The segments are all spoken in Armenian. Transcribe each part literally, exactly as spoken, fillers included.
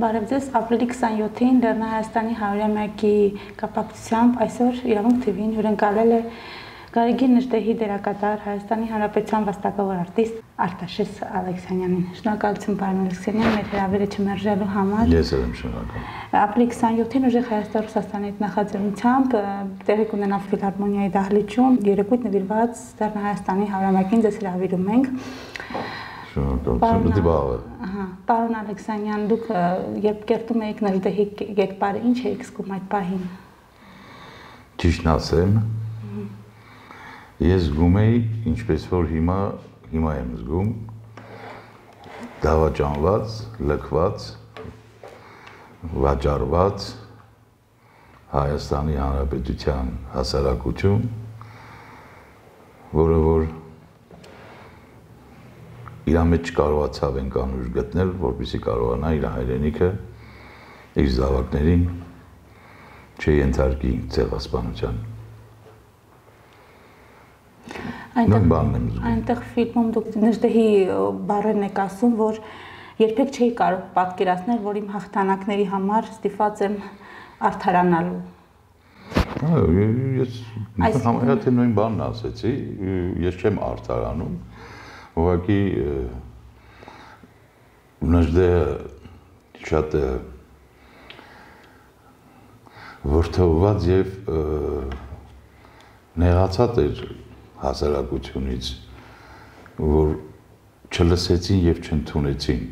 Բարև ձեզ, ապրիլի քսանյոթին Լեռնահայաստանի հարյուրամյակի կապակցությամբ այսօր Իրավունք թիվին հյուրընկալել է Գարեգին Նժդեհի դերակատար Հայաստանի Հանրապետության վաստակավոր արտիստ Արտաշես Ալեքսանյանին։ Շնորհակալություն պարոն Ալեքսանյան, մեր հրավերը չմերժելու համար։ Ես եմ շնորհակալ։ Ապրիլի քսանյոթին ուժեղ Հայաստան-Ռուսաստանի նախաձեռնությամբ տեղի կունենա ֆիլհարմոնիայի դահլիճում երեկույթ նվիրված Լեռնահայաստանի հարյուրամյակին ձեզ հրավիրում ենք։ Ահա, պարոն Ալեքսանյան, դուք երբ կերտում եք Նժդեհի կերպարը, ինչ եք զգում այդ պահին։ Ճիշտն ասեմ, ես զգում էի, ինչպես որ հիմա, հիմա եմ զգում, դավաճանված, լքված, վաճառված Հայաստանի Հանրապետության հասարակություն, որը որ իր մեջ կարողացավ են կանուշ գտնել, որպեսզի կարողանա իր հայրենիքը, իր զավակներին չենթարկի ցեղասպանության։ Այնտեղ ֆիլմում դուք Նժդեհի բառերն եք ասում, որ երբեք չէի կարող պատկերացնել, որ իմ հաղթանակների համար ստիպված եմ արդարանալու։ Ես համարյա թե նույն բանն ասեցի, ես չեմ արդարանում, ուղղակի Նժդեհը շատ որդեգրված եւ նեղացած էր հասարակությունից, որ չլսեցին եւ չընդունեցին։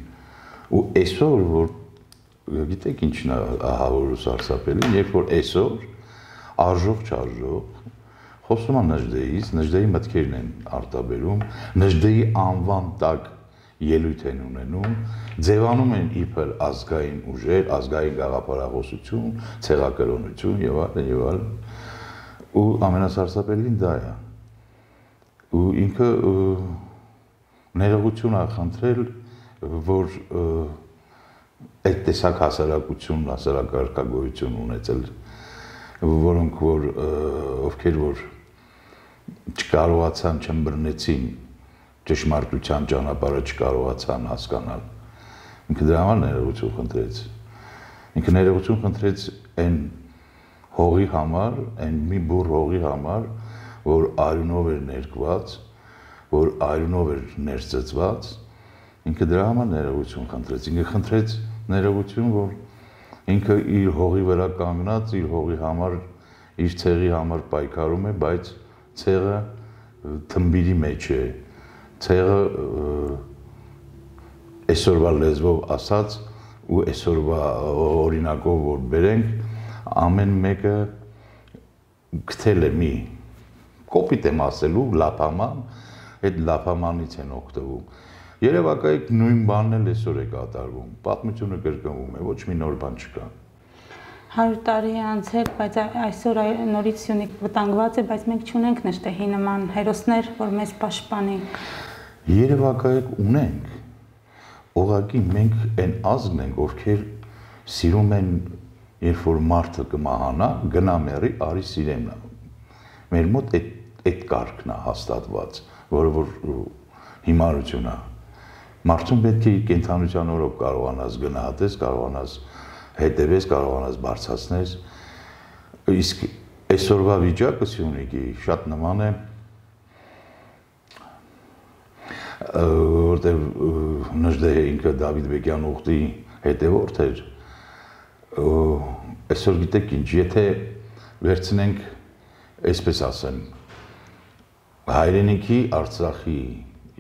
Ու այսօր, որ գիտեք ինչն է ահավոր ու սարսափելի, երբ որ այսօր արժող չարժող խոսում է Նժդեհից, Նժդեհի մտքերն են արտաբերում, Նժդեհի անվան տակ ելույթ են ունենում, ձևանում են իբր ազգային ուժեր, ազգային գաղափարախոսություն, ցեղակրոնություն եւ այլն եւ այլն։ Ու ամենասարսափելին դա է։ Ու ինքը ներողություն է խնդրել, որ այդ տեսակ հասարակություն, հասարակարգագոյություն ունեցել, որոնք որ ովքեր որ չկարողացան, չմբռնեցին ճշմարտության ճանապարհը, չկարողացան հասկանալ։ Ինքը դրա համար ներողություն խնդրեց։ Ինքը ներողություն խնդրեց այն հողի համար, այն մի բուռ հողի համար, որ արյունով էր ներկված, որ արյունով էր ներծծված, ինքը դրա համար ներողություն խնդրեց։ Ինքը խնդրեց ներողություն, որ ինքը իր հողի վրա կանգնած, իր հողի համար, իր ցեղի համար պայքարում է, բայց ցեղը թմբիրի մեջ է, ցեղը այսօրվա լեզվով ասած ու այսօրվա օրինակով որ բերենք, ամեն մեկը գտել է մի կոպիտ եմ ասելու լափաման, այդ լափամանից են օգտվում։ Երևակայեք նույն բանն էլ այսօր է կատարվում, պատմությունը կրկնվում է, ոչ մի նոր բան չկա։ հարյուր տարի է անցել, բայց այսօր նորից Սյունիք վտանգված է, բայց մենք չունենք Նժդեհի նման հերոսներ, որ մեզ պաշտպանի։ Երևակայեք ունենք, ուղղակի մենք այն ազգն ենք, ովքեր սիրում են, երբ որ մարդը կմահանա, գնա մեռի, արի սիրեմ նա։ Մեր մոտ այդ կարգն է հաստատված, որը որ հիմարություն է։ Մարդուն պետք է իր կենդանության օրոք կարողանաս գնահատես, կարողանաս հետևես, կարողանաս բարձրացնես, իսկ այսօրվա վիճակը Սյունիքի շատ նման է, որտեղ Նժդեհը ինքը Դավիթ Բեկյան ուխտի հետևորդ էր, այսօր գիտեք ինչ, եթե վերցնենք, այսպես ասեմ, հայրենիքի Արցախի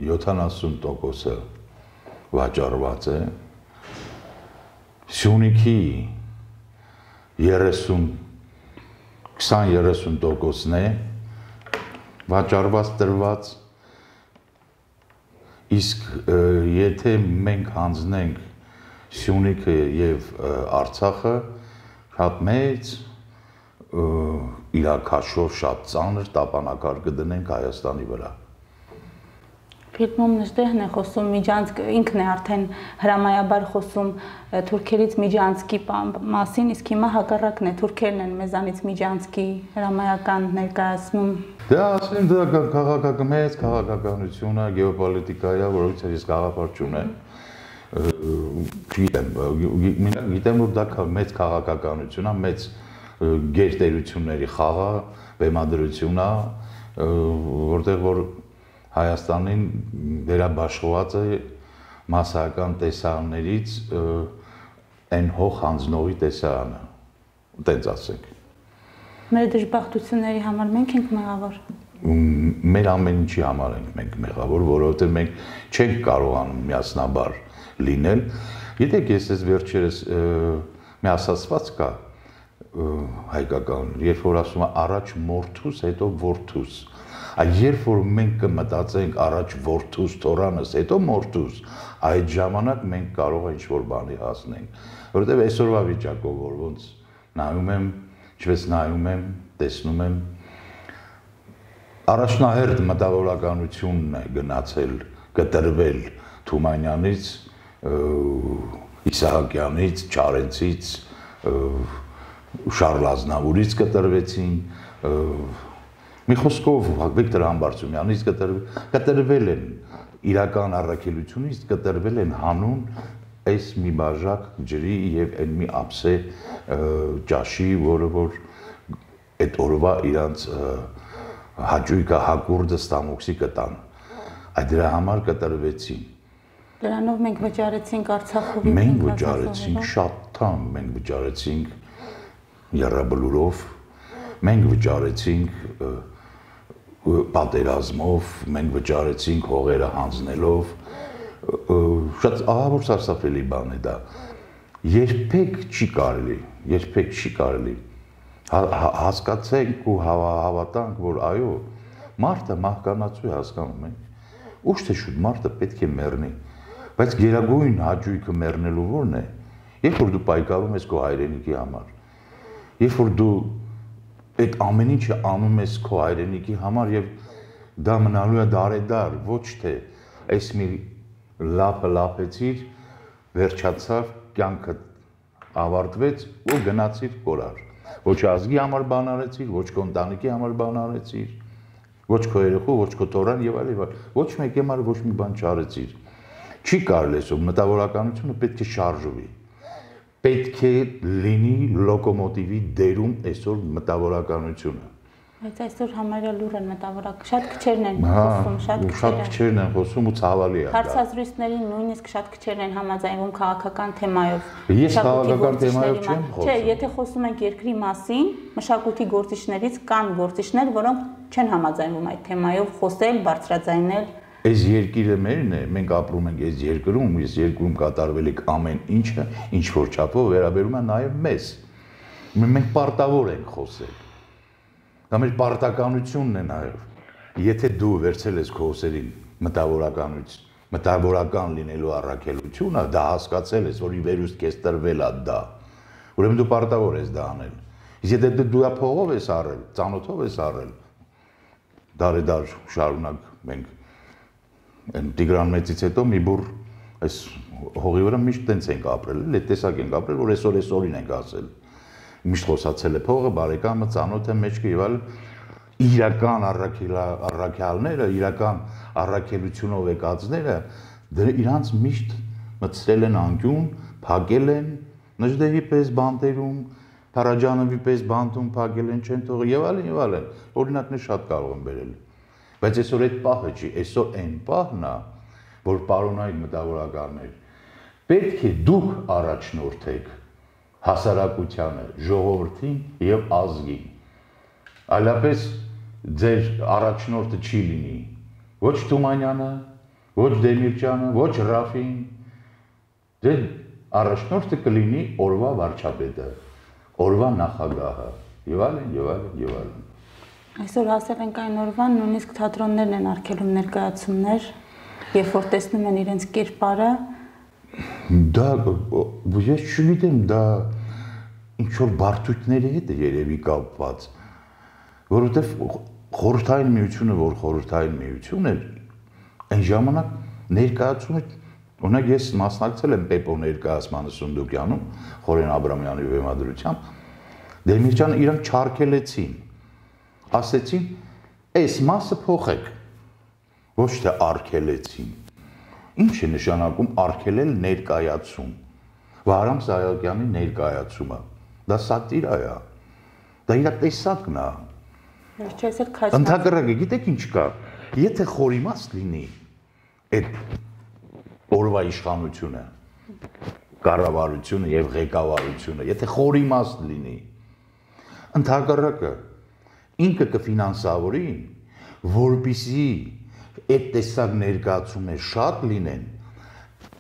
յոթանասուն տոկոսը վաճառված է, Սյունիքի երեսուն, քսան երեսուն տոկոսն է վաճառված տրված, իսկ եթե մենք հանձնենք Սյունիքը եւ Արցախը, շատ մեծ իրաքաշով շատ ծանր տապանակար կդնենք Հայաստանի վրա։ Ֆիլմում Նժդեհն է խոսում Միջանցք, ինքն է արդեն հրամայաբար խոսում թուրքերից Միջանցքի մասին, իսկ հիմա հակառակն է, թուրքերն են մեզանից Միջանցքի հրամայական ներկայացնում։ Դա ասեմ, դա քաղաքական մեծ քաղաքականություն է, գեոպոլիտիկա է, որովհետև ես գաղափար չունեմ։ Չգիտեմ, գիտեմ որ դա մեծ քաղաքականություն է, մեծ գերտերությունների խաղ է, բեմադրություն է, որտեղ որ Հայաստանին վերաբաշխված է մասսայական տեսարաններից այն հող հանձնողի տեսարանը, տենց ասենք։ Մեր դժբախտությունների համար մենք ենք մեղավոր։ Մեր ամեն ինչի համար ենք մենք մեղավոր, որովհետև մենք չենք կարողանում միասնաբար լինել։ Գիտեք, ես այս վերջերս մի ասացված կա հայկական, երբ որ ասում է առաջ մորթուս, հետո որդուս։ Այդ երբ որ մենք կմտածենք առաջ որդուս, թորանս, հետո մորթուս, այդ ժամանակ մենք կարող ենք ինչ-որ բանի հասնենք, որովհետև այսօրվա վիճակով որ ոնց նայում եմ, ինչպես նայում եմ, տեսնում եմ, առաջնահերթ մտավորականությունն է գնացել, կտրվել Թումանյանից, Իսահակյանից, Չարենցից, Շարլ Ազնավուրից կտրվեցին, մի խոսքով Վիկտոր Համբարձումյանից կտրվել են իրական առաքելությունից, կտրվել են հանուն այս մի բաժակ ջրի եւ այն մի ափսե ճաշի, որը որ այդ օրվա իրանց հաճույքը հակուրդը ստամոքսի կտան։ Այդ դրա համար կտրվեցին։ Դրանով մենք վճարեցինք Արցախովի։ Մենք վճարեցինք շատ թամ, մենք վճարեցինք եռաբլուրով, մենք վճարեցինք պատերազմով, մենք վճարեցինք հողերը հանձնելով, շատ ահավոր սարսափելի բան է դա։ Երբեք չի կարելի, երբեք չի կարելի հասկացենք ու հավատանք, որ այո, մարդը մահկանացու է, հասկանում ենք։ Ուշ թե շուտ մարդը պետք է մեռնի, բայց գերագույն հաճույքը մեռնելու որն է, երբ որ դու պայքարում ես քո հայրենիքի համար, երբ որ դու այդ ամեն ինչը անում ես քո հայրենիքի համար եւ դա մնալու է դարեդար, ոչ թե այս մի լապը լապեցիր, վերջացավ, կյանքը ավարտվեց ու գնացիր կորար։ Ոչ ազգի համար բան արեցիր, ոչ քո ընտանիքի համար բան արեցիր, ոչ քո երեխու, ոչ քո տորան եւ այլ եւ այլ։ Ոչ մեկի համար ոչ մի բան չարեցիր։ Չի կարելի այսօր մտավորականությունը պետք է շարժվի։ Պետք է լինի լոկոմոտիվի դերում այսօր մտավորականությունը։ Բայց այսօր համարյա լուր են մտավորակ, շատ քչերն են խոսում, շատ քչերն են խոսում ու ցավալի է դա։ Հարցազրույցներին նույնիսկ շատ քչերն են համաձայնվում քաղաքական թեմայով։ Ես քաղաքական թեմայով չեմ խոսում։ Չէ, եթե խոսում ենք երկրի մասին, մշակույթի գործիչներից կան գործիչներ, որոնք չեն համաձայնվում այդ թեմայով խոսել, բարձրաձայնել։ Այս երկիրը մերն է, մենք ապրում ենք այս երկրում, այս երկրում կատարվելիք ամեն ինչը, ինչ որ չափով վերաբերում է նաև մեզ։ Մենք պարտավոր ենք խոսել։ Դա մեր պարտականությունն է նաև։ Եթե դու վերցել ես քո ուսերին մտավորականություն, մտավորական լինելու առաքելությունը, դա հասկացել ես, որ ի վերուստ քեզ տրվել է դա։ Ուրեմն դու պարտավոր ես դա անել։ Իսկ եթե դու դա փողով ես առել, ծանոթով ես առել, դարեդար շարունակ մենք այն Տիգրան Մեծից հետո մի բուր այս հողի վրա միշտ տենց ենք ապրել, այդ տեսակ ենք ապրել, որ այսօր այսօրին ենք ասել։ Միշտ խոսացել է փողը, բարեկամը, ծանոթը, մեջքը եւ այլ իրական առաքյալները, իրական առաքելությունով եկածները իրանց միշտ մտցրել են անկյուն, փակել են, Նժդեհի պես բանտերում, Փարաջանովի պես բանտում փակել են, չեն թողել եւ այլն եւ այլն։ Օրինակներ շատ կարող եմ բերել։ Բայց այսօր այդ պահը չի, այսօր այն պահն է, որ պարոնայք մտավորականներ, պետք է դուք առաջնորդեք հասարակությանը, ժողովրդին եւ ազգին։ Այլապես ձեր առաջնորդը չի լինի ոչ Թումանյանը, ոչ Դեմիրճյանը, ոչ Ռաֆին։ Ձեր առաջնորդը կլինի օրվա վարչապետը, օրվա նախագահը եւ այլն եւ այլն եւ այլն։ Այսօր ասել ենք այն օրվան, նույնիսկ թատրոններն են արգելում ներկայացումներ, երբ որ տեսնում են իրենց կերպարը։ Դա ես չգիտեմ, դա ինչ որ բարդությունների հետ է երևի կապված, որովհետև խորհրդային միությունը, որ խորհրդային միություն էր, այն ժամանակ ներկայացումը, օրինակ ես մասնակցել եմ Պեպո ներկայացմանը Սունդուկյանում, Խորեն Աբրամյանի բեմադրությամբ, Դեմիրճյանը իրանք չարգելեցին, ասեցին, այս մասը փոխեք, ոչ թե արգելեցին։ Ինչ է նշանակում արգելել ներկայացում։ Վահրամ Սահակյանի ներկայացումը։ Դա սատիրա է։ Դա իր տեսակն է։ Չես էլ քաջ։ Ընդհակառակը, գիտեք ինչ կա։ Եթե խորիմաստ լինի այդ օրվա իշխանությունը, կառավարությունը եւ ղեկավարությունը, եթե խորիմաստ լինի, ընդհակառակը ինքը կֆինանսավորի, որպեսզի այդ տեսակ ներկայացումներ շատ լինեն։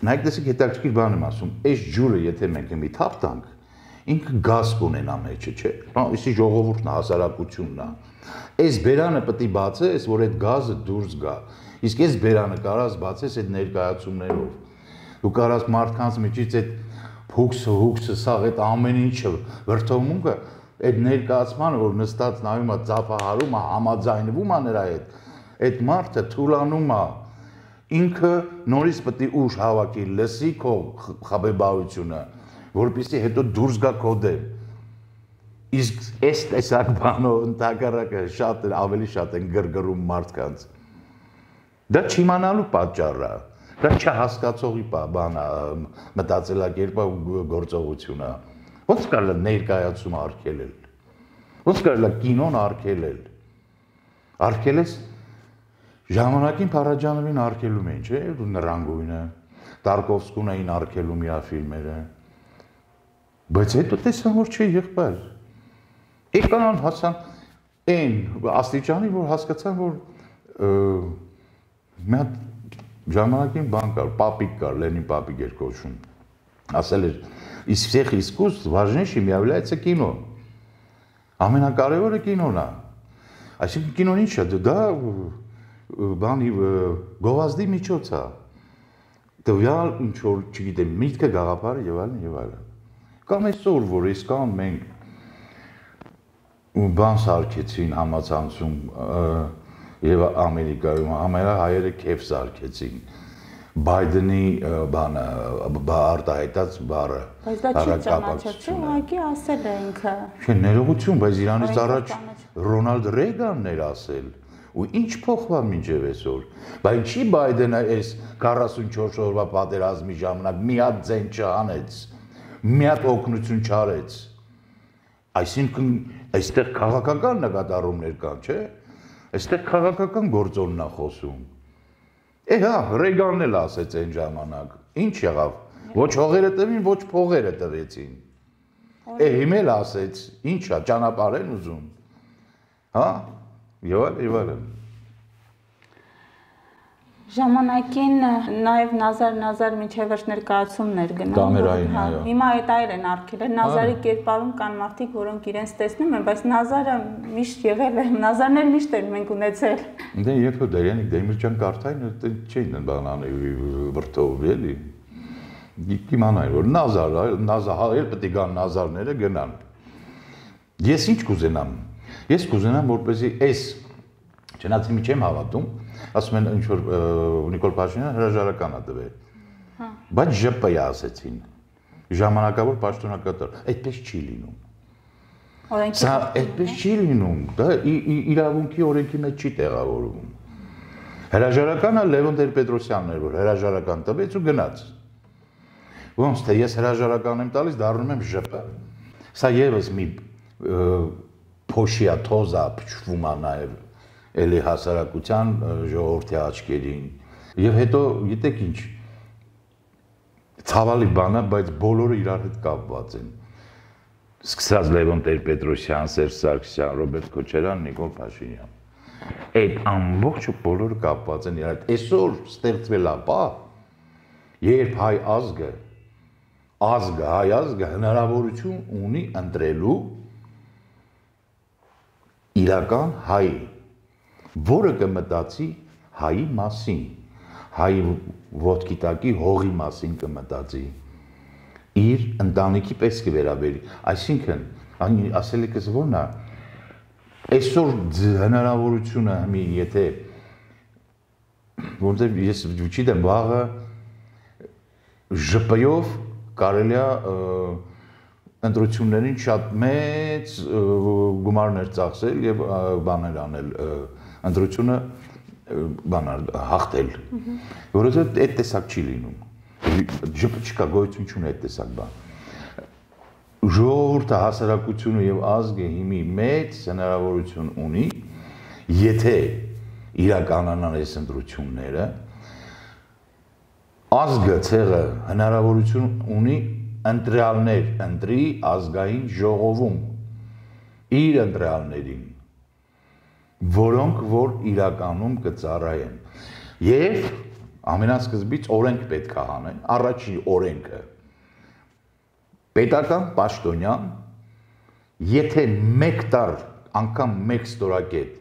Նայեք, տեսեք, հետաքրքիր բան եմ ասում, այս ջուրը եթե մենք մի թափ տանք, ինքը գազ կունենա մեջը, չէ՞։ Այսի ժողովուրդն է, հասարակությունն է։ Այս բերանը պետք է բացես, որ այդ գազը դուրս գա։ Իսկ այս բերանը կարաս բացես այդ ներկայացումներով։ Դու կարաս մարդկանց միջից այդ փուքսը, հուքսը, սաղ այդ ամեն ինչը վրթովմունքը, այդ ներկայացմանը, որ նստած նայում է, ծափահարում է, համաձայնվում է նրա հետ, այդ մարդը թուլանում է։ Ինքը նորից պետք է ուժ հավաքի, լսի քո խաբեբայությունը, որպեսզի հետո դուրս գա քո դեմ։ Իսկ այս տեսակ բանով ընդհակառակը շատ ավելի շատ են գրգռում մարդկանց։ Դա չիմանալու պատճառը, դա չհասկացողի բան է, մտածելակերպը ու գործողությունը։ Ոնց կարելի է ներկայացում արգելել։ Ոնց կարելի է կինոն արգելել։ Արգելես Ժամանակին Փարաջանովին արգելում էին, չէ՞, Նռանգույնը, Տարկովսկուն էին արգելում իր ֆիլմերը։ Բայց հետո տեսան, որ չի եղբայր։ Եկան հասան այն աստիճանի, որ հասկացան, որ մի հատ ժամանակին բան կար, պապիկ կար, Լենին պապիկ էր կոչվում։ Ասել էր, из всех искусств важнейшим является кино։ Ամենակարևորը կինոն է։ Այսինքն կինոն ինչ է, դա բանի գովազդի միջոց է։ Տվյալ ինչ որ, չգիտեմ, միտքը, գաղափարը եւ այլն եւ այլն։ Կամ այսօր, որ իսկան մենք բան սարքեցին համացանցում եւ Ամերիկայում, ամենա հայերը քեֆ սարքեցին։ Բայդենի բանը, արտահայտած բառը։ Բայց դա չի ճանաչել, չէ՞, ուղղակի ասել է ինքը։ Չէ, ներողություն, բայց Իրանից առաջ Ռոնալդ Ռեյգանն էր ասել։ Ու ինչ փոխվավ մինչև այսօր։ Բայց չի Բայդենը այս քառասունչորս օրվա պատերազմի ժամանակ մի հատ ձեն չանեց, մի հատ օգնություն չարեց։ Այսինքն այստեղ քաղաքական նկատառումներ կան, չէ՞։ Այստեղ քաղաքական գործոնն է խոսում։ Է հա, Ռեյգանն էլ ասեց այն ժամանակ։ Ինչ եղավ։ Ոչ հողերը տվին, ոչ փողերը տվեցին։ Է հիմա էլ ասեց, ինչ է, ճանապարհ են ուզում։ Հա։ Եվ այլ, եւ այլն։ Ժամանակին նաև Նազար Նազար միջև վերջ ներկայացումներ գնում։ Կամերային, այո։ Հիմա այդ այլ են արգելել։ Նազարի կերպարում կան մարդիկ, որոնք իրենց տեսնում են, բայց Նազարը միշտ եղել է, Նազարներ միշտ են մենք ունեցել։ Դե երբ որ Դերյանիկ Դեմիրճան կարթային չէին բանանը վրթով էլի։ Իմանայի որ Նազար, Նազար, էլ պետք է գան Նազարները գնան։ Ես ինչ կուզենամ։ Ես կուզենամ, որպեսզի այս չնայած մի չեմ հավատում, ասում են ինչ որ Նիկոլ Փաշինյանը հրաժարական է տվել։ Հա։ Բայց ԺՊ-ը ասեցին։ Ժամանակավոր պաշտոնակատար, այդպես չի լինում։ Օրենքի Սա այդպես չի լինում, դա իրավունքի օրենքի մեջ չի տեղավորվում։ Հրաժարականը Լևոն Տեր-Պետրոսյանն էր, որ հրաժարական տվեց ու գնաց։ Ոնց թե ես հրաժարական եմ տալիս, դառնում եմ ԺՊ։ Սա եւս մի փոշիա թոզա փչվում է նաև էլի հասարակության ժողովրդի աչքերին եւ հետո գիտեք ինչ ցավալի բան է, բայց բոլորը իրար հետ կապված են սկսած Լևոն Տեր-Պետրոսյան, Սերժ Սարգսյան, Ռոբերտ Քոչարյան, Նիկոլ Փաշինյան այդ ամբողջը բոլորը կապված են իրար հետ այսօր ստեղծվել է պա երբ հայ ազգը ազգը հայ ազգը հնարավորություն ունի ընտրելու իրական հայ, որը կմտածի հայի մասին, հայի ոտքի տակի հողի մասին կմտածի, իր ընտանիքի պես կվերաբերի, այսինքն, ասելիքս որն է, այսօր հնարավորությունը մի եթե, որտեղ ես չգիտեմ, վաղը ԺՊ-ով կարելի է ընտրություններին շատ մեծ գումարներ ծախսել եւ բաներ անել ընտրությունը բանալ հաղթել որովհետեւ այդ տեսակ չի լինում չկա գոյություն չունի այդ տեսակ բան։ Ժողովուրդը, հասարակությունը եւ ազգը հիմի մեծ հնարավորություն ունի, եթե իրականանան այս ընտրությունները, ազգը ցեղը հնարավորություն ունի ընտրյալներ ընտրի ազգային ժողովում իր ընտրյալներին, որոնք որ իրականում կծառայեն եւ ամենասկզբից օրենք պետք է հանեն, առաջի օրենքը պետական պաշտոնյան, եթե մեկ տար անգամ մեկ ստորակետ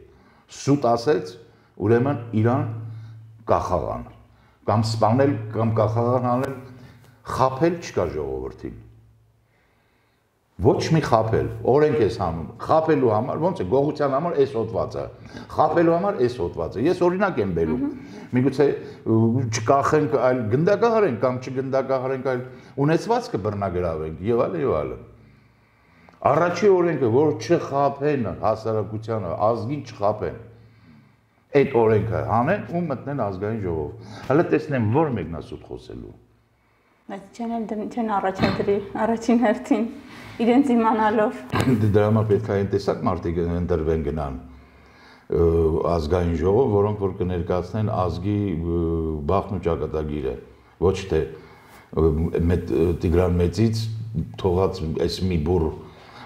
սուտ ասեց, ուրեմն իրան կախաղան, կամ սպանել, կամ կախաղան անել, խապել չկա ժողովրդին։ Ոչ մի խապել, օրենք ես հանում, խապելու համար, ոնց է, գողության համար էս հոտվածը, խապելու համար էս հոտվածը, ես օրինակ եմ բերում, միգուցե չկախենք, այլ գնդակահարենք, կամ չգնդակահարենք, այլ ունեցվածքը բռնագրավենք, եւ այլ եւ այլ։ Առաջի օրենքը, որ չխապեն հասարակությանը, ազգին չխապեն, այդ օրենքը հանեն ու մտնեն ազգային ժողով։ Հələ տեսնեմ, որ մեկն է սուտ խոսելու։ Բայց չեն առաջադրի, առաջին հերթին, իրենց իմանալով։ Դրա համար պետք է այն տեսակ մարդիկ ընտրվեն գնան ազգային ժողով, որոնք որ կներկայացնեն ազգի բախն ու ճակատագիրը, ոչ թե Տիգրան Մեծից թողած այս մի բուռ։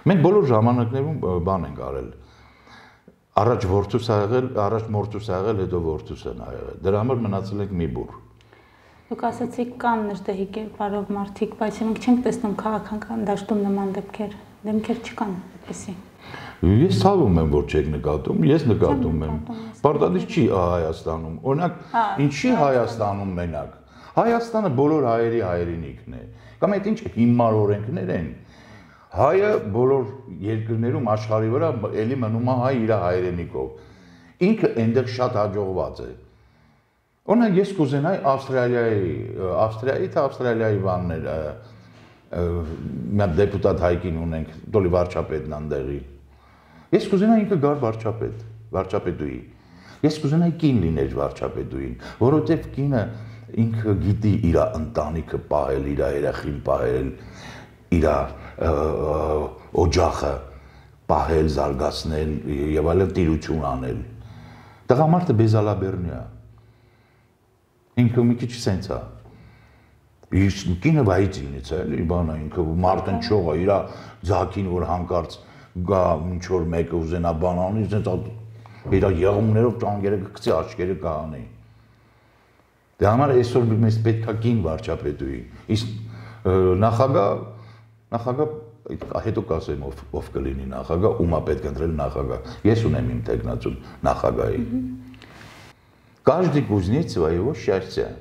Մենք բոլոր ժամանակներում բան ենք արել։ Առաջ որդուս ա եղել, առաջ մորթուս ա եղել, հետո որդուս են եղել։ Դրա համար մնացել ենք մի բուռ։ Դուք ասացիք կան նժդեհի կերպարով մարդիկ, բայց մենք չենք տեսնում քաղաքական դաշտում նման դեպքեր, դեմքեր չկան այդպեսի։ Ես ցավում եմ, որ չեք նկատում, ես նկատում եմ։ Պարտադիր չի Հայաստանում։ Օրինակ, ինչի Հայաստանում մենակ։ Հայաստանը բոլոր հայերի հայրենիքն է։ Կամ այդ ինչ հիմար օրենքներ են։ Հայը բոլոր երկրներում աշխարհի վրա էլի մնում է հայ իր հայրենիքով։ Ինքը այնտեղ շատ հաջողված է։ Օրինակ ես կուզենայի Ավստրալիայի, Ավստրիայի թե Ավստրալիայի բաններ, մի հատ դեպուտատ հայկին ունենք, դոլի վարչապետն այնտեղի։ Ես կուզենայի ինքը գար վարչապետ, վարչապետուի։ Ես կուզենայի կին լիներ վարչապետուին, որովհետև կինը ինքը գիտի իր ընտանիքը պահել, իր երեխին պահել, իր օջախը պահել, զարգացնել եւ այլն տիրություն անել։ Տղամարդը բեզալաբերնի է։ Ինքը մի քիչ սենց է։ Իսկ կինը վայից ինից է, էլի բանա ինքը մարտնչող է, իր ձակին որ հանկարծ գա ինչ որ մեկը ուզենա բան անի, սենց իր եղումներով ճանգերը կգցի, աչքերը կհանի։ Դե համար այսօր մեզ պետք է կին վարչապետուի։ Իսկ նախագահ նախագահ հետո կասեմ ով ով կլինի նախագահ, ումա պետք է ընտրել նախագահ։ Ես ունեմ իմ տեխնացուն նախագահի։ Каждый кузнец своего счастья։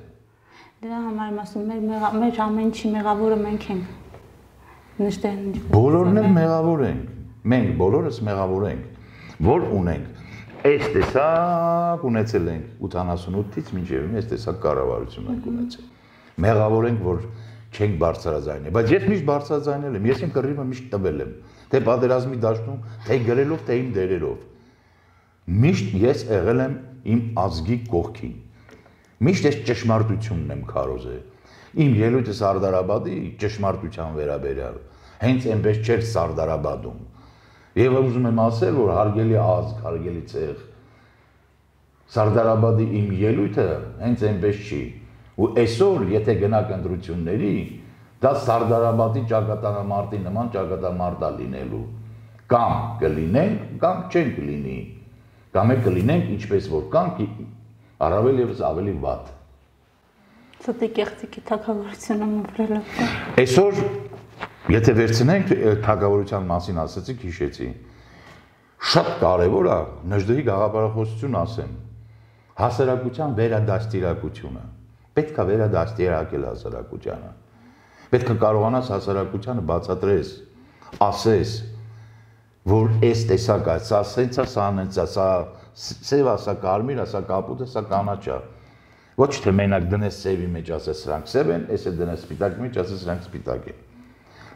Դրա համար եմ ասում, մեր մեր ամեն ինչի մեղավորը մենք ենք։ Նշտեն։ Բոլորն էլ մեղավոր ենք։ Մենք բոլորս մեղավոր ենք, որ ունենք այս տեսակ ունեցել ենք ութանասունութից մինչև այս տեսակ կառավարություն ենք ունեցել։ Մեղավոր ենք, որ չենք բարձրաձայնել, բայց ես միշտ բարձրաձայնել եմ, ես իմ կռիվը միշտ տվել եմ, թե պատերազմի դաշտում, թե գրելով, թե իմ դերերով։ Միշտ ես եղել եմ իմ ազգի կողքին։ Միշտ ես ճշմարտությունն եմ քարոզել։ Իմ ելույթը Սարդարաբադի ճշմարտության վերաբերյալ, հենց այնպես չէր Սարդարաբադում։ Եվ ուզում եմ ասել, որ հարգելի ազգ, հարգելի ցեղ, Սարդարաբադի իմ ելույթը հենց այնպես չի։ Ու այսօր, եթե գնաք ընտրությունների, դա Սարդարաբադի ճակատամարտի նման ճակատամարտ է լինելու։ Կամ կլինենք, կամ չենք լինի։ Կամ է կլինենք ինչպես որ կանք, առավել ևս ավելի վատ։ Ցտի կեղծիկի թագավորությունը մոռելով։ Այսօր, եթե վերցնենք թագավորության մասին ասացիք, հիշեցի։ Շատ կարևոր է Նժդեհի գաղափարախոսություն ասեմ։ Հասարակության վերադաստիարակությունը։ Պետք է վերադաստիարակել հասարակությանը։ Պետք է կարողանաս հասարակությանը բացատրես, ասես, որ այս տեսակ է, սա սենց է, սա նենց է, սա սև է, սա կարմիր է, սա կապույտ է, սա կանաչ է։ Ոչ թե մենակ դնես սևի մեջ ասես սրանք սև են, այս է դնես սպիտակի մեջ ասես սրանք սպիտակ են։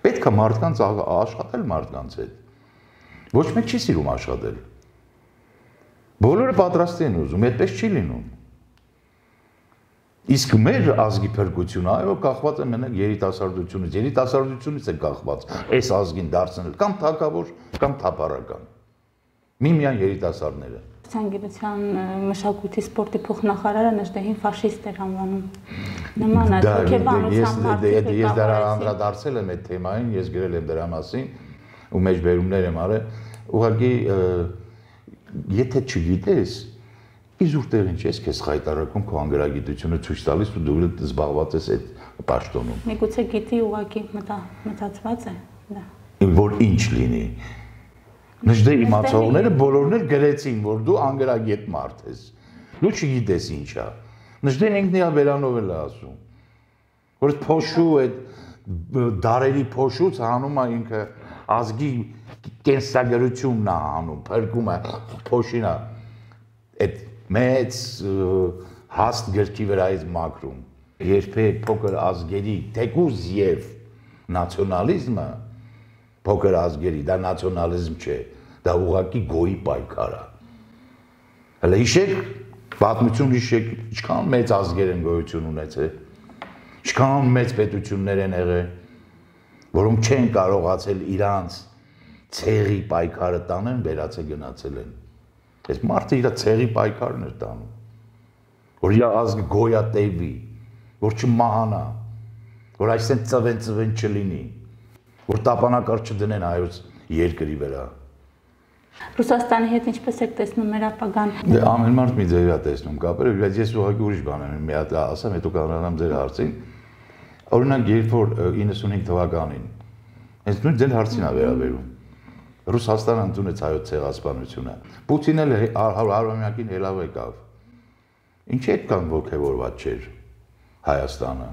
Պետք է մարդկանց աշխատել մարդկանց հետ։ Ոչ մեկ չի սիրում աշխատել։ Բոլորը պատրաստ են ուզում, այդպես չի լինում։ Իսկ մեր ազգի փրկությունը այո կախված է մենակ երիտասարդությունից, երիտասարդությունից է կախված այս ազգին դարձնել կամ թակավոր կամ թափառական։ Միմիան երիտասարդները։ Ցանկության մշակույթի սպորտի փոխնախարարը Նժդեհին ֆաշիստ էր անվանում։ Նման է հոգեբանության մարդիկ։ Ես դրա անդրադարձել եմ այդ թեմային, ես գրել եմ դրա մասին ու մեջբերումներ եմ արել։ Ուղղակի եթե չգիտես իզուր տեղին չես քեզ խայտարակում քո անգրագիտությունը ցույց տալիս ու դու զբաղված ես այդ պաշտոնում։ Միգուցե գիտի ուղղակի մտածված է դա։ Որ ինչ լինի։ Նժդե իմացողները բոլորն էլ գրեցին, որ դու անգրագետ մարդ ես։ Դու չգիտես ինչա։ Նժդեն ինքն իր վերանով էլ է ասում։ Որ այդ փոշու այդ դարերի փոշուց հանում է ինքը ազգի կենսագրությունն է հանում, փրկում է փոշին է այդ մեծ հաստ գրքի վրայից մաքրում։ Երբեք փոքր ազգերի թեկուզ եւ նացիոնալիզմը փոքր ազգերի դա նացիոնալիզմ չէ, դա ուղղակի գոյի պայքար է։ Հələ հիշեք, պատմություն հիշեք, ինչքան մեծ ազգեր են գոյություն ունեցել, ինչքան մեծ պետություններ են եղել, որոնք չեն կարողացել իրանց ցեղի պայքարը տանեն, վերացե գնացել են։ Այս մարդը իր ցեղի պայքարն էր տանում, որ իր ազգը գոյատևի, որ չմահանա, որ այսեն ծվեն-ծվեն չլինի, որ տապանակար չդնեն հայոց երկրի վրա։ Ռուսաստանի հետ ինչպես եք տեսնում մեր ապագան։ Դե ամեն մարդ մի ձև է տեսնում կապերը, բայց ես ուղղակի ուրիշ բան եմ, մի հատ ասեմ, հետո կանանամ ձեր հարցին։ Օրինակ, երբ որ իննսունհինգ թվականին, հենց նույն ձեր հարցին է վերաբերում։ Ռուսաստանը ընդունեց հայոց ցեղասպանությունը։ Պուտինը հարյուրամյակին հելավ եկավ։ Ինչի՞ այդքան ոգևորված չէր Հայաստանը։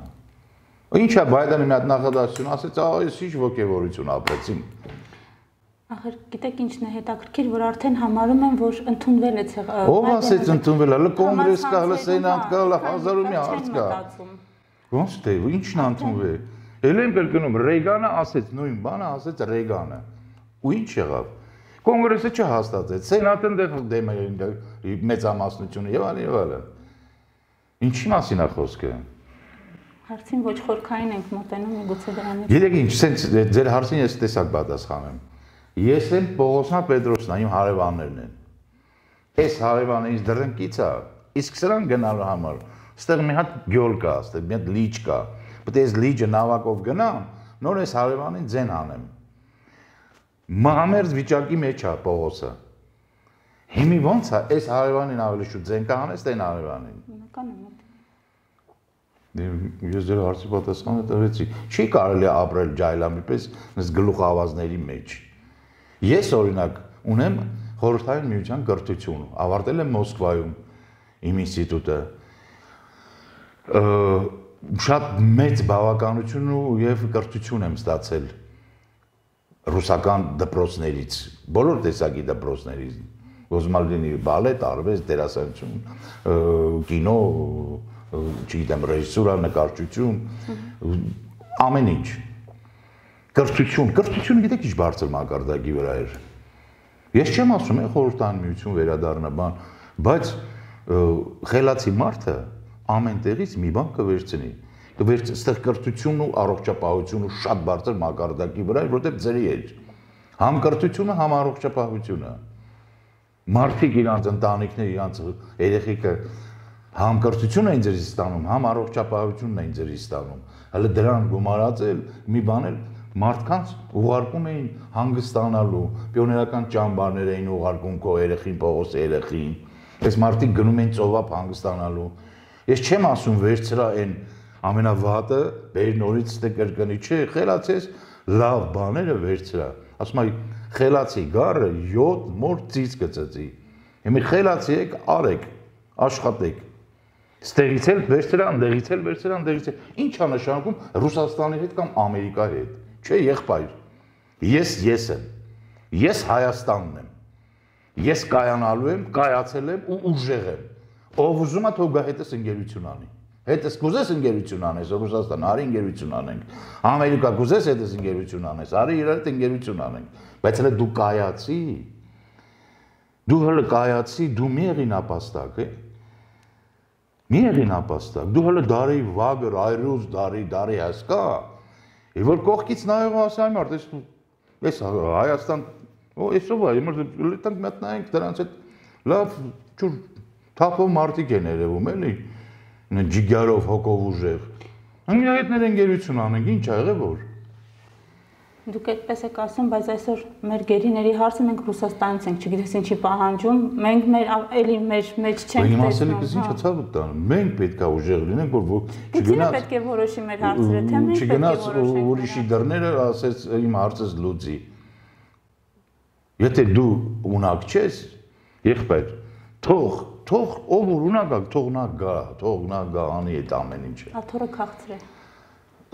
Ինչա Բայդենը մի հատ նախադասություն ասեց, ահա ես ինչ ոգևորություն ապրեցին։ Ախր գիտեք ինչն է հետաքրքիր, որ արդեն համարում են, որ ընդունվել է ցեղը։ Ո՞վ ասեց ընդունվել է, հələ կոնգրես կա, հələ սենատ կա, հələ հազար ու մի հարց կա։ Ոնց թե, ինչն ընդունվել։ Էլ եմ կրկնում, Ռեյգանը ասեց նույն բանը, ասեց Ռեյգանը։ Ու ինչ եղավ։ Կոնգրեսը չհաստատեց, սենատը դեմ է մեծամասնությունը եւ այլն եւ այլն։ Ինչի մասին է խոսքը։ Հարցին ոչ խորքային ենք մոտենում, միգուցե դրանից։ Գիտեք ինչ, սենց ձեր հարցին ես տեսակ պատասխանեմ։ Ես եմ Պողոսյան Պետրոսն, իմ հարևաններն են։ Այս հարևանը ինձ դռնկից է, իսկ սրան գնալու համար, ստեղ մի հատ գյոլ կա, ստեղ մի հատ լիճ կա։ Պետք է այս լիճը նավակով գնամ, նոր այս հարևանին ձեն անեմ։ Մահամերձ վիճակի մեջ է Պողոսը։ Հիմի ոնց է, այս հարևանին ավելի շուտ ձեն կանես, թե այն հարևանին։ Բնական է մոտ։ Ես ձեր հարցի պատասխանը տվեցի։ Չի կարելի ապրել ջայլամի պես այս գլուխավազների մեջ։ Ես օրինակ ունեմ խորհրդային միության կրթություն, ավարտել եմ Մոսկվայում իմ ինստիտուտը։ Շատ մեծ բավականություն եւ կրթություն եմ ստացել ռուսական դպրոցներից, բոլոր տեսակի դպրոցներից, ոզմալինի բալետ, արվեստ, դերասանություն, կինո, չգիտեմ, ռեժիսուրա, նկարչություն, ամեն ինչ։ Կրթություն, կրթությունը գիտեք ինչ բարձր մակարդակի վրա էր։ Ես չեմ ասում, է խորհրդային միություն վերադառնա բան, բայց խելացի մարդը ամեն տեղից մի բան կվերցնի։ Կվերց այստեղ կրթությունն ու առողջապահությունը շատ բարձր մակարդակի վրա էր, որտեղ ձերի էր։ Համ կրթությունը, համ առողջապահությունը։ Մարդիկ իրանց ընտանիքները, իրանց երեխեքը համ կրթություն էին ձերից ստանում, համ առողջապահությունն էին ձերից ստանում։ Հələ դրան գումարածել մի բան էլ մարդկանց ուղարկում էին հանգստանալու, պիոներական ճամբարներ էին ուղարկում քո երեխին, Պողոսի երեխին։ Այս մարդիկ գնում էին ծովափ հանգստանալու։ Ես չեմ ասում վերցրա այն ամենավատը, բեր նորից ստե կրկնի, չէ, խելացես լավ բաները վերցրա։ Ասում եմ, խելացի գառը յոթ մոր ծից կծծի։ Հիմա խելացի եք, արեք, աշխատեք։ Ստեղից էլ վերցրա, ընդեղից էլ վերցրա, ընդեղից էլ։ Ինչ է նշանակում Ռուսաստանի հետ կամ Ամերիկայի հետ։ Չէ, եղբայր։ Ես ես եմ։ Ես Հայաստանն եմ։ Ես կայանալու եմ, կայացել եմ ու ուժեղ եմ։ Ով ուզում է թող գա հետս ընկերություն անի։ Հետս կուզես ընկերություն անես, Ռուսաստան, արի ընկերություն անենք։ Ամերիկա կուզես հետս ընկերություն անես, արի իրար հետ ընկերություն անենք։ Բայց հələ դու կայացի։ Դու հələ կայացի, դու մի եղի նապաստակ, է։ Մի եղին ապաստակ, դու հələ դարի վագր, այրուզ, դարի, դարի հասկա, եւ որ կողքից նայող ասայ մարդ, ես ես Հայաստան, օ էսով է, իմը լետանք մտնայինք դրանց հետ լավ ճուր թափով մարդիկ են երևում, էլի, ջիգարով, հոգով ուժեղ։ Մենք հետներ ընկերություն անենք, ինչ ա եղել որ։ Դուք այդպես եք ասում, բայց այսօր մեր գերիների հարցը մենք Ռուսաստանից ենք, չգիտես ինչի պահանջում, մենք մեր էլի մեր մեջ չենք տեսնում։ Իմ ասելիքս ինչա ցավը տանը, մենք պետք է ուժեղ լինենք, որ չգնաց։ Պետք է որոշի մեր հարցերը, թե մենք պետք է որոշենք։ Չգնաց ուրիշի դռները ասեց իմ հարցս լուծի։ Եթե դու ունակ չես, եղբայր, թող, թող ով որ ունակ ա, թող նա գա, թող նա գա անի այդ ամեն ինչը։ Աթոռը քաղցր է։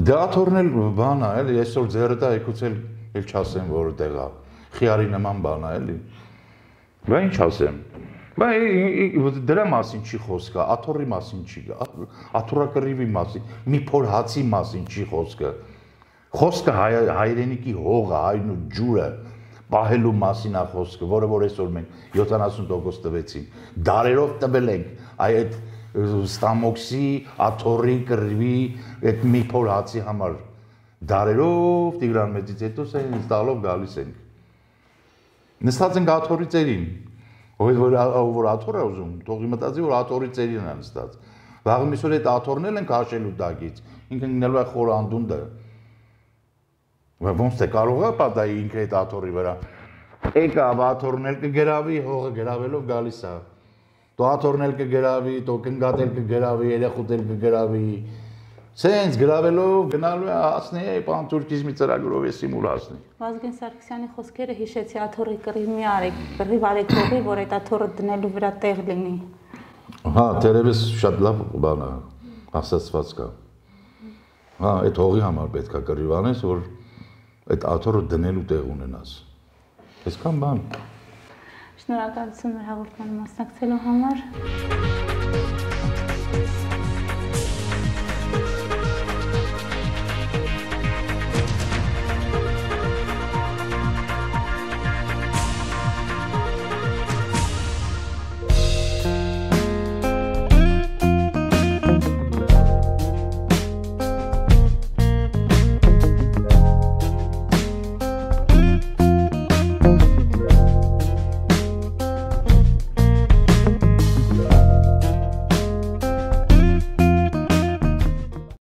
Դե աթոռն էլ բան է, էլի, այսօր ձեռը դա եկուց էլ էլ չասեմ որտեղ է։ Խիարի նման բան է, էլի։ Բա ինչ ասեմ։ Բա դրա մասին չի խոսքը, աթոռի մասին չի, աթոռակռիվի մասին, մի փոր հացի մասին չի խոսքը։ Խոսքը հայրենիքի հողը, հայրն ու ջուրը պահելու մասին է խոսքը, որը որ այսօր մենք յոթանասուն տոկոս տվեցինք, դարերով տվել ենք այդ ստամոքսի, աթոռի, կռիվի, այդ մի փոր հացի համար դարերով Տիգրան մեծից հետո սենց տալով գալիս ենք։ Նստած ենք աթոռի ծերին, ով որ աթոռ է ուզում, թող մտածի որ աթոռի ծերին է նստած։ Վաղը միսօր այդ աթոռն էլ ենք հաշելու տակից, ինքը գնալու է խոր անդունդը։ Ոնց թե կարող է պատահի ինքը այդ աթոռի վրա։ Եկա աթոռն էլ կգրավի, հողը գրավելով գալիս է։ Դու աթոռն էլ կգրավի, դու կնգատել կգրավի, երեխուտ էլ կգրավի։ Սենց գրավելով գնալու է հասնի է պան թուրքիզմի ծրագրով էսի մուլ հասնի։ Վազգեն Սարգսյանի խոսքերը հիշեցի աթոռի կռիվ մի արեք, կռիվ արեք հողի, որ այդ աթոռը դնելու վրա տեղ լինի։ Հա, դերևս շատ լավ բան է, ասացված կա։ Հա, այդ հողի համար պետք է կռիվ անես, որ այդ աթոռը դնելու տեղ ունենաս։ Այսքան բան։ Շնորհակալություն մեր հաղորդմանը մասնակցելու համար։